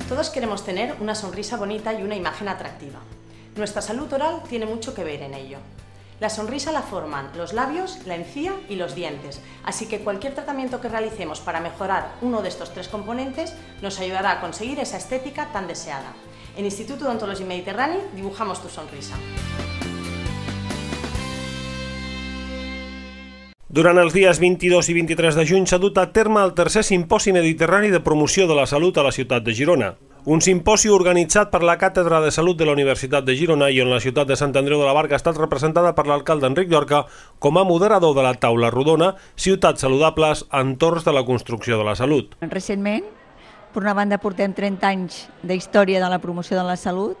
Todos queremos tener una sonrisa bonita y una imagen atractiva. Nuestra salud oral tiene mucho que ver en ello. La sonrisa la forman los labios, la encía y los dientes, así que cualquier tratamiento que realicemos para mejorar uno de estos tres componentes nos ayudará a conseguir esa estética tan deseada. En Instituto d'Odontologia Mediterrani dibujamos tu sonrisa. Durant els dies 22 i 23 de juny s'ha dut a terme el tercer simposi mediterrani de promoció de la salut a la ciutat de Girona. Un simposi organitzat per la Càtedra de Salut de la Universitat de Girona i on la ciutat de Sant Andreu de la Barca ha estat representada per l'alcalde Enric Llorca com a moderador de la taula rodona Ciutats Saludables, entorns de la construcció de la salut. Recentment, per una banda, portem 30 anys d'història de la promoció de la salut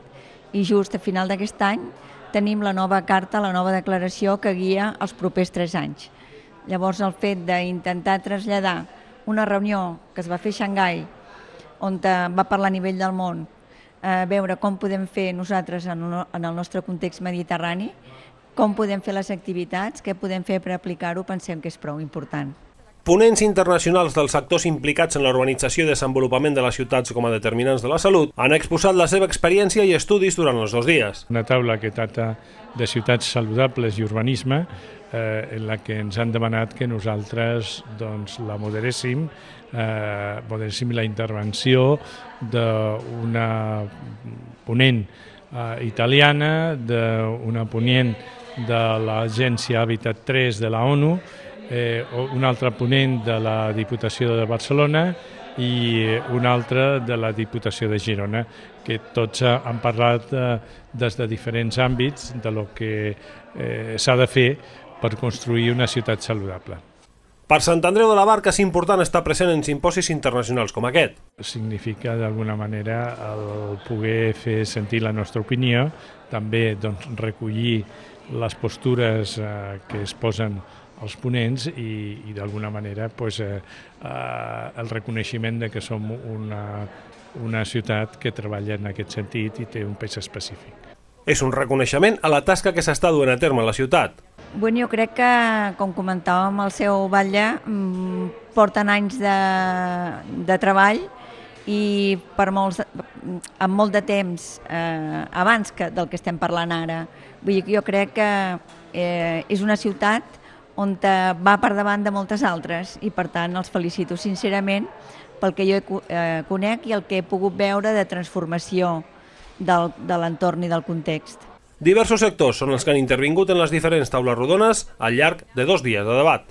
i just a final d'aquest any tenim la nova carta, la nova declaració que guia els propers 3 anys. Llavors, el fet d'intentar traslladar una reunió que es va fer a Xangai, on va parlar a nivell del món, veure com podem fer nosaltres en el nostre context mediterrani, com podem fer les activitats, què podem fer per aplicar-ho, pensem que és prou important. Ponents internacionals dels sectors implicats en l'urbanització i desenvolupament de les ciutats com a determinants de la salut han exposat la seva experiència i estudis durant els 2 dies. Una taula que tracta de ciutats saludables i urbanisme, en la que ens han demanat que nosaltres la moderéssim la intervenció d'una ponent italiana, d'una ponent de l'Agència Hàbitat 3 de la ONU, un altre ponent de la Diputació de Barcelona i un altre de la Diputació de Girona, que tots han parlat des de diferents àmbits de lo que s'ha de fer per construir una ciutat saludable. Per Sant Andreu de la Barca és important estar present en simposis internacionals com aquest. Significa d'alguna manera el poder fer sentir la nostra opinió, també recollir les postures que es posen els ponents i d'alguna manera el reconeixement de que som una ciutat que treballa en aquest sentit i té un pes específic. És un reconeixement a la tasca que s'està duent a terme a la ciutat. Bueno, jo crec que, com comentàvem, el seu batlle porten anys de treball i amb molt de temps abans del que estem parlant ara. Vull dir que jo crec que és una ciutat on va per davant de moltes altres i, per tant, els felicito sincerament pel que jo conec i el que he pogut veure de transformació de l'entorn i del context. Diversos sectors són els que han intervingut en les diferents taules rodones al llarg de 2 dies de debat.